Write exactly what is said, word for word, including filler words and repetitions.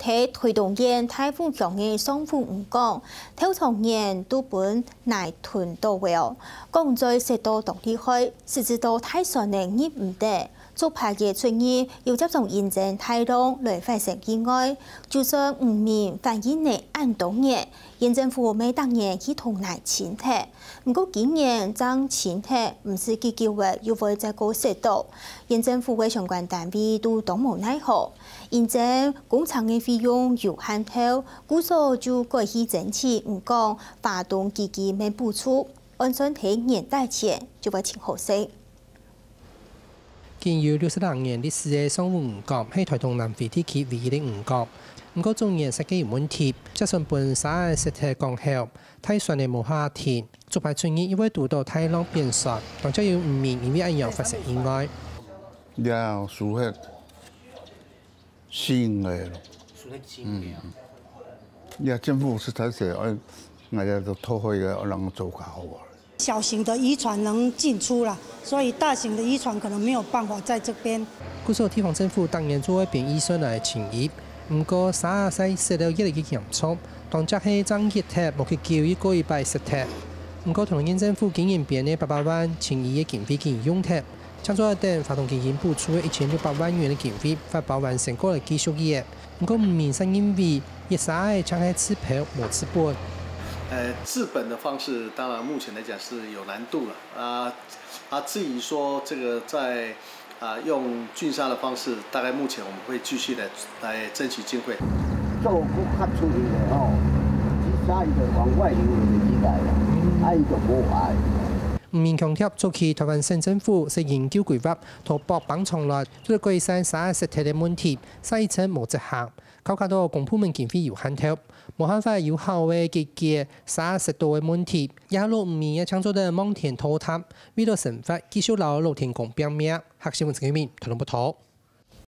係臺東縣大湖鄉个上湖漁港，頭長年都分泥吞著了，港嘴塞到當厲害，使之到大船仔入毋得。 逐擺个出入，又輒常因爭大浪來發生意外，就算漁民反映了恁多年，縣政府乜逐年去同泥清忒。毋過今年正清忒，毋知幾久仔又會再過塞著。縣政府个相關單位都當無奈何，因爭工程个費用有限頭，故所就改去爭取漁港花東基金个補助，按算在年底前就會清好勢。 僅有六十零年歷史个上湖漁港係臺東南迴地區唯一个漁港。毋過逐年設計有問題，輒船分沙仔塞忒港口，大船仔無法停，逐擺出入又會堵著大浪扁船，當輒有漁民因為恁樣發生意外。這輸忒四五個咯。輸忒四五個啊。嗯。這政府實在係，哎，𠊎這都討好个，人做較好啊。 小型的漁船能進出啦，所以大型的漁船可能沒有辦法在這邊。故所地方政府逐年做會編預算來清理，毋過沙仔塞了越來越嚴重，當輒係正一忒無幾久又過一擺塞忒。毋過桃園縣政府今年編个八百萬清理个經費已經用忒，淨做得等花東基金補助个一千六百萬元个經費，發包完成過來繼續用。 毋過漁民就認為，這沙仔淨係自漂無自本。呃，自本的方式，當然目前來講是有難度了。啊，啊，至於說這個在，啊，用圳沙的方式，大概目前我們會繼續地來爭取經費。做較出力个吼，這沙伊就往外流就起來了，啊，伊就無壞。漁民強調，早期臺灣省政府設研究規劃，討駁北長崙，做得改善沙仔塞忒个問題，煞一直無執行。 考慮到公部門經費有限頭，無辦法有效个解決沙塞到个問題，這下老漁民也淨做得望天討潭，為了生活，繼續摎老天公拚命。客新聞陳啟明，台東報導。